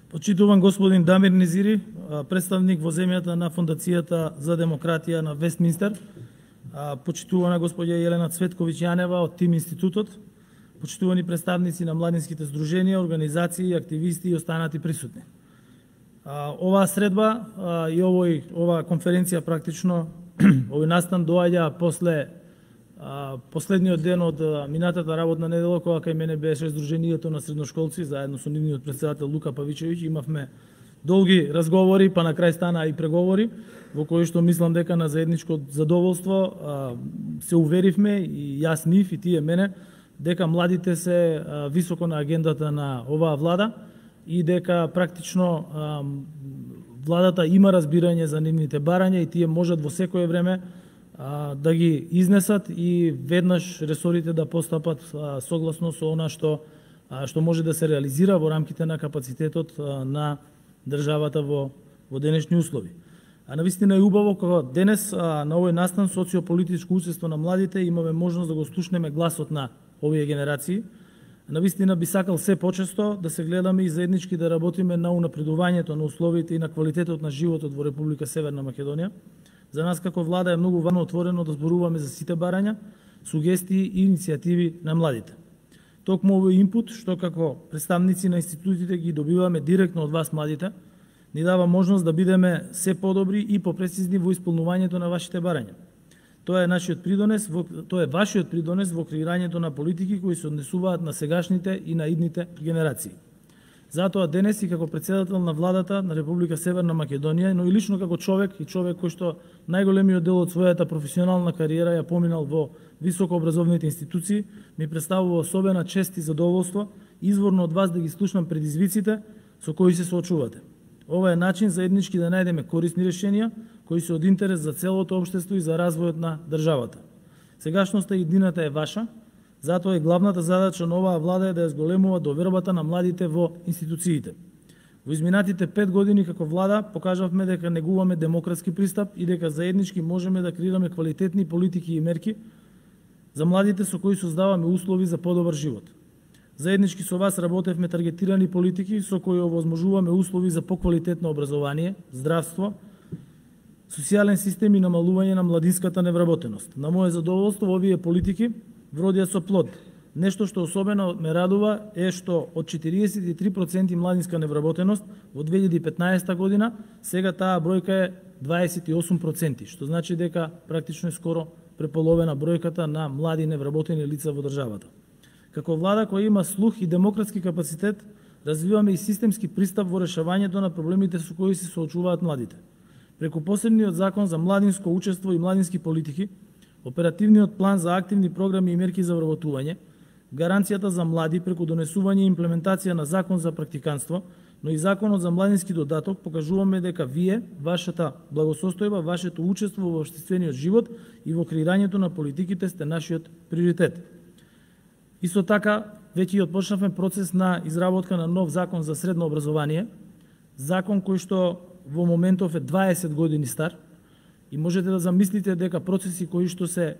Почитуван господин Дамир Незири, представник во земјата на Фондацијата за демократија на Вестминстер, почитувана господја Елена Цветковиќ Јанева од Тим институтот, почитувани представници на младинските здруженија, организации, активисти и останати присутни. Оваа средба и ова конференција практично овој настан доаѓа после последниот ден од минатата работна недела, кога кај мене беше Сдруженијето на средношколци, заедно со нивниот претседател Лука Павичевиќ, имавме долги разговори, па на крај стана и преговори, во кои што мислам дека на заедничко задоволство се уверивме, и јас нив и тие мене, дека младите се високо на агендата на оваа влада и дека практично владата има разбирање за нивните барања и тие можат во секое време да ги изнесат и веднаш ресорите да постапат согласно со она што може да се реализира во рамките на капацитетот на државата во денешни услови. Навистина е убаво кога денес на овој настан социополитичко учество на младите имаме можност да го слушнеме гласот на овие генерации. Навистина би сакал се почесто да се гледаме и заеднички да работиме на унапредувањето на условите и на квалитетот на животот во Република Северна Македонија. За нас како влада е многу важно отворено да зборуваме за сите барања, сугестии и иницијативи на младите. Токму овој инпут, што како представници на институтите ги добиваме директно од вас младите, ни дава можност да бидеме се подобри и попрецизни во исполнувањето на вашите барања. Тоа е вашиот придонес во креирањето на политики кои се однесуваат на сегашните и на идните генерации. Затоа денес и како претседател на владата на Република Северна Македонија, но и лично како човек кој што најголемиот дел од својата професионална кариера ја поминал во високообразовните институции, ми представува особена чест и задоволство изворно од вас да ги слушнам предизвиците со кои се соочувате. Ова е начин заеднички да најдеме корисни решенија кои се од интерес за целото општество и за развојот на државата. Сегашноста и иднината е ваша, затоа и главната задача на оваа влада е да ја зголемува довербата на младите во институциите. Во изминатите 5 години како влада покажавме дека негуваме демократски пристап и дека заеднички можеме да креираме квалитетни политики и мерки за младите со кои создаваме услови за подобар живот. Заеднички со вас работевме таргетирани политики со кои овозможуваме услови за поквалитетно образование, здравство, социјален систем и намалување на младинската невработеност. На моје задоволство овие политики вродија со плод. Нешто што особено ме радува е што од 43% младинска невработеност во 2015 година, сега таа бројка е 28%, што значи дека практично е скоро преполовена бројката на млади невработени лица во државата. Како влада која има слух и демократски капацитет, развиваме и системски пристап во решавањето на проблемите со кои се соочуваат младите. Преку посебниот закон за младинско учество и младински политики, оперативниот план за активни програми и мерки за вработување, гаранцијата за млади преку донесување и имплементација на закон за практиканство, но и законот за младински додаток, покажуваме дека вие, вашата благосостојба, вашето учество во општествениот живот и во креирањето на политиките сте нашиот приоритет. Исто така, веќе отпочнавме процес на изработка на нов закон за средно образование, закон кој што во моментов е 20 години стар, и можете да замислите дека процеси кои што се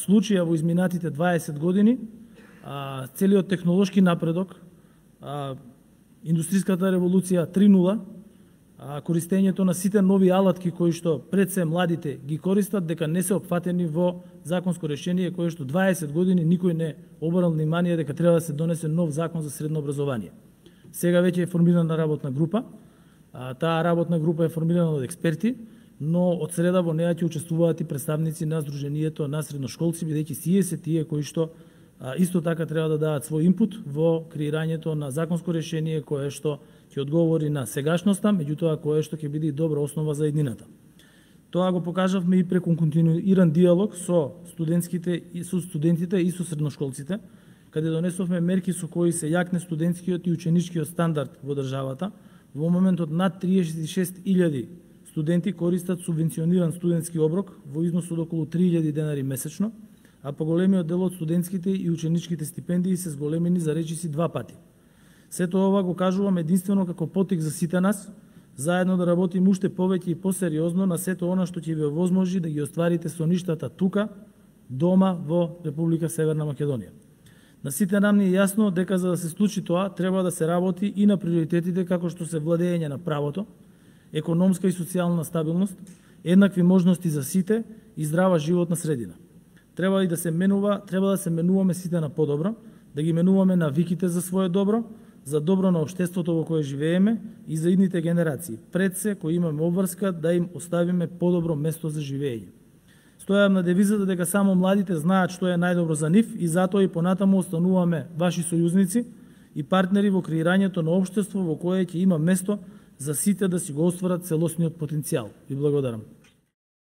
случија во изминатите 20 години, целиот технолошки напредок, индустријската револуција 3.0, користењето на сите нови алатки кои што пред се младите ги користат, дека не се опфатени во законско решение кое што 20 години никој не обрнал внимание дека треба да се донесе нов закон за средно образование. Сега веќе е формирана работна група. Таа работна група е формирана од експерти, но од среда во неја ќе учествуваат и представници на Сдруженијето на средношколци, бидејќи сие се тие кои што исто така треба да дадат свој инпут во креирањето на законско решение кое што ќе одговори на сегашноста, меѓутоа кое што ќе биде добра основа за иднината. Тоа го покажавме и преку континуиран диалог со студентите и со средношколците, каде донесовме мерки со кои се јакне студентскиот и ученичкиот стандард во државата. Во моментот над 36.000 студенти користат субвенциониран студентски оброк во износ од околу 3.000 денари месечно, а поголемиот дел од студентските и ученичките стипендии се зголемени за речиси 2 пати. Сето ова го кажувам единствено како потик за сите нас, заедно да работиме уште повеќе и посериозно на сето она што ќе ви овозможи да ги остварите соништата тука, дома во Република Северна Македонија. На сите нам ни е јасно дека за да се случи тоа, треба да се работи и на приоритетите како што се владење на правото, економска и социјална стабилност, еднакви можности за сите и здрава животна средина. Треба да се менуваме сите на подобро, да ги менуваме навиките за свое добро, за добро на општеството во кое живееме и за идните генерации, пред се кои имаме обврска да им оставиме подобро место за живење. Стојам на девизата дека само младите знаат што е најдобро за нив и затоа и понатаму остануваме ваши сојузници и партнери во креирањето на општество во кое ќе има место за сите да си го остварат целосниот потенцијал. Ви благодарам.